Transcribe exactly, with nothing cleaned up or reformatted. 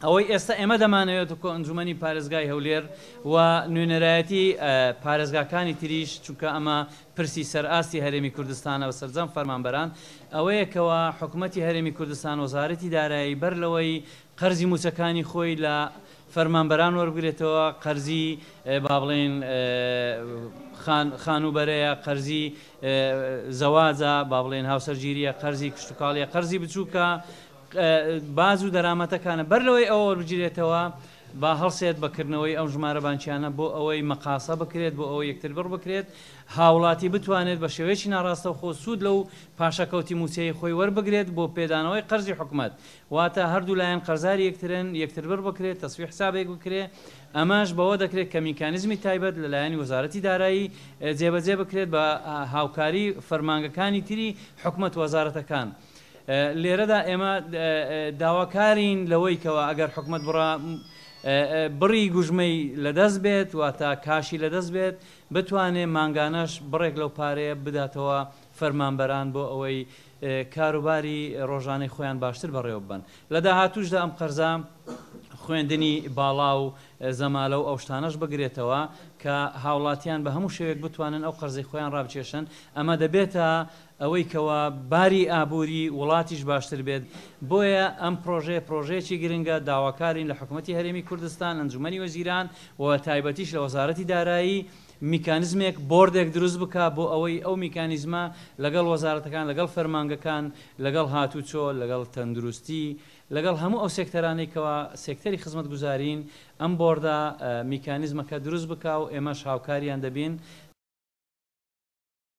ئەوەی ئێستا ئێمە دەمانەوێت وەکو ئەنجومەنی پارێزگای هەولێر و نوێنەرایەتی پارێزگاکانی تریش، چونکە ئەمە پرسی سەرئاستی هەرێمی کوردستانە و سەرجەم فەرمانبەران، ئەوەیە کەوا حکومەتی هەرێمی کوردستان وەزارەتی دارایی بەر لەوەی قەرزی موچەکانی خۆی لە فەرمانبەران وەربگرێتەوە، قەرزی با بڵێن خانووبەرەیە، قەرزی زەواجە، با بڵێن هاوسەرگیریە، قەرزی کشتتوکاڵیە، قەرزی بچووکە، باز و دەرامەتەکانە، بەر لەوەی ئەوە وەربگیرێتەوە با هەڵسێت بەکردنەوەی ئەو ژمارە بانکیانە بۆ ئەوەی مەقاسە بکرێت، بۆ ئەوەی یەکتر بڕ بکرێت، هاوڵاتی بتوانێت بە شێوەیەکی ناڕاستەوخۆ سوود لەو پاشەکەوتی موچەی خۆی وەربگرێت بۆ پێدانەوەی قەرزی حکومەت. واتە هەردوو لایەن قەرزاری یەکترن، یەکتر بڕ بکرێت، تەسوی حسابێک بکرێت. ئەمەش بەوە دەکرێت کە میکانیزمی تایبەت لەلایەنی وەزارەتی دارایی جێبەجێ بکرێت بە هاوکاری فەرمانگەکانی تری حکومەت وەزارەتەکان. لێرەدا ئێمە داواکارین لەوەی کەەوە ئەگەر حکومەت بڕا بڕی گوژمەی لەدەست بێت، واتە کاشی لەدەست بێت، بتوانێت مانگانەش بڕێک لەو پارەیە بداتەوە فەرمانبەران بۆ ئەوەی کاروباری ڕۆژانەی خۆیان باشتر بەڕێوە ببەن. لە داهاتوشدا ئەم قەرزە خوێندنی باڵا و زەمالە و ئەو شتانەش بگرێتەوە کە هاوڵاتیان بە هەموو شێوەیەک بتوانن ئەو قەرزەی خۆیان ڕابچێشن. ئەمە دەبێتە ئەوەی کەوا باری ئابووری وڵاتیش باشتر بێت. بۆیە ئەم پرۆژەیە پرۆژەیەکی گرنگە، داواکارین لە حکوومەتی هەرێمی کوردستان، ئەنجومەنی وەزیران و تایبەتیش لە وەزارەتی دارایی میکانیزمێک بۆردێک دروست بکە بۆ ئەوەی ئەو میکانیزمە لەگەڵ وەزارەتەکان، لەگەڵ فەرمانگەکان، لەگەڵ هاتوچۆ، لەگەڵ تەندروستی، لەگەڵ هەموو ئەو سێکتەرانەی کەوا سێکتەری خزمەتگوزارین، ئەم بۆردە میکانیزمەکە دروست بکە و ئێمەش هاوکاریان دەبین